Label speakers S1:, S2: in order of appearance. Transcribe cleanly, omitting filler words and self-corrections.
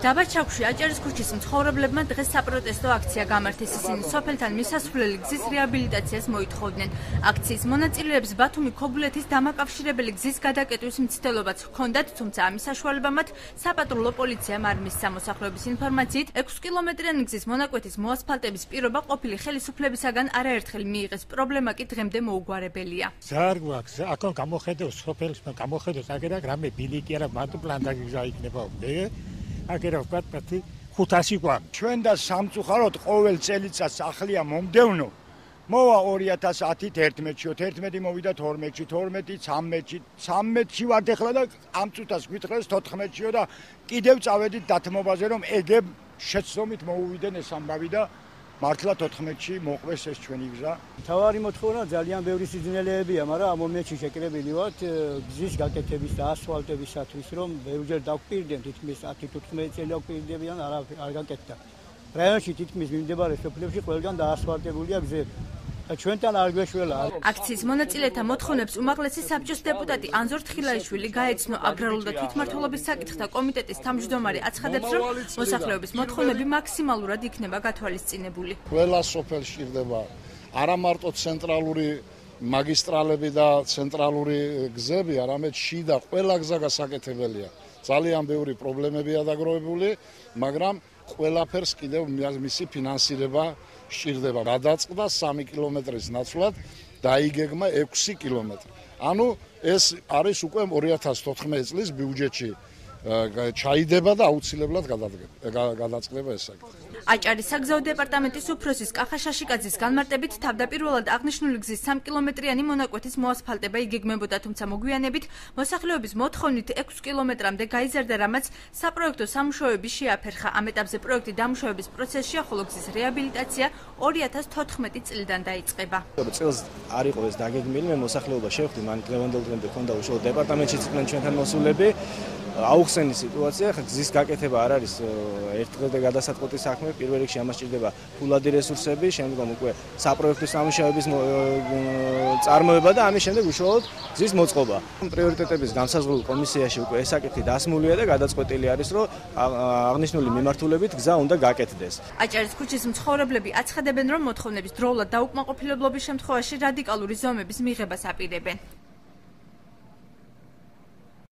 S1: დაბაჩაქვში აჭარის ქუჩის მცხოვრებლებმა დღეს საპროტესტო აქცია გამართეს. ისინი სოფელთან მისასვლელი გზის რეაბილიტაციას მოითხოვდნენ. აქციის მონაწილეებს ბათუმი ქობულეთის დამაკავშირებელი გზის გადაკეტვის მცდელობაც ჰქონდათ, თუმცა ამის საშუალება მათ საპატრულო პოლიციამ არ მისცა. მოსახლეობის ინფორმაციით 6 კილომეტრიანი გზის მონაკვეთის მოასფალტების პირობა ყოფილი ხელისუფლებისაგან არაერთხელ მიიღეს. პრობლემა კი დღემდე მოუგვარებელია.
S2: ზარ გვაქვს, აქ გამოხედავს სოფელს, გამოხედავს აგერაკ რამე ბილიკი არა მარტო პლანდაგიზა იქნება. აგერა ვქათ 500 გვაქვს.
S3: ჩვენ და სამწუხაროდ ყოველ წელიწადს ახლია მომდევნო. მოვა 2010-ით 11-ში, 11 მოვიდა 12-ში, 12 13-ში, 13-ში ვართ ახლა და ამ წუთას გვითხრეს 14-შიო და კიდევ წავედით დათმობაზე რომ ეგებ შეცდომით მოუვიდნენ ეს ამბავი და მართლა 14-ში მოყვეს ეს ჩვენი გზა.
S4: თავარი მოთხოვნა ძალიან ბევრი სიძნელეებია, მაგრამ ამ მომენტში შეკრებილი ვართ გზის გაკეთების და ასფალტებისათვის, რომ ბევრჯერ დავკვირდნენ, თითქმის 10-15 წელი დავკვირდებიან, არ გაკეთდა. რაიონში თითქმის მიმდებარე სოფლებში ყველგან დაასფალტებულია გზები. და ჩვენთან არ გვეშველა.
S1: აქციის მონაწილეთა მოთხოვნებს უმაღლესი საბჭოს დეპუტატი ანზორ თხილაიშვილი გაეცნო. აგრარულ და თვითმმართველობის საკითხთა კომიტეტის თავმჯდომარე აცხადებს, რომ მოსახლეობის მოთხოვნები მაქსიმალურად იქნება გათვალისწინებული.
S5: ყველა სოფელში ირდება არა მარტო ცენტრალური მაგისტრალები და ცენტრალური გზები, არამედ შიდა ყველა გზა გასაკეთებელია. ძალიან ბევრი პრობლემებია დაგროვებული, მაგრამ ყველაფერს კიდევ მისი ფინანსირება სჭირდება. გადაწყდა 3 კილომეტრის ნაცვლად, დაიგეგმა 6 კილომეტრი. ანუ ეს არის უკვე 2014 წლის ბიუჯეტში ჩაიდება და აუცილებლად გადაწყდება ეს საკითხი.
S1: აჭარის საგზაო დეპარტამენტის უფროსის კახა შაშიკაძის განმარტებით თავდაპირველად აღნიშნული გზის 3 კილომეტრიანი მონაკვეთის მოასფალტება იგეგმებოდა, თუმცა მოგვიანებით მოსახლეობის მოთხოვნით 6 კილომეტრამდე გაიზარდა, რამაც საპროექტო სამუშაოები შეაფერხა. ამ ეტაპზე პროექტი დამუშავების პროცესშია, ხოლო გზის რეაბილიტაცია 2014 წლიდან დაიწყება.
S6: წელს არ იყო ეს დაგეგმილი, მე მოსახლეობა შევხვდი, მან დღევანდელ დღემდე ქონდა უშუალოდ დეპარტამენტში იყვნენ ჩვენთან მოსულები. აუხსენი სიტუაცია, გზის გაკეთება არ არის ერთდღე გადასაწყვეტი საქმე, პირველ რიგში ამას სჭირდება ფულადი რესურსები, შემდგომ უკვე საპროექტო სამუშაოების წარმოება და ამის შემდეგ უშუალოდ გზის მოწყობა. პრიორიტეტების განსაზღვრულ კომისიაში უკვე ეს საკითხი დასმულია და გადაწყვეტილი არის, რომ აღნიშნული მიმართულებით გზა უნდა გაკეთდეს.
S1: აჭარის ქუჩის მცხოვრებლები აცხადებენ, რომ მოთხოვნების დროულად დაუკმაყოფილებლობის შემთხვევაში რადიკალური ზომების მიღებას აპირებენ.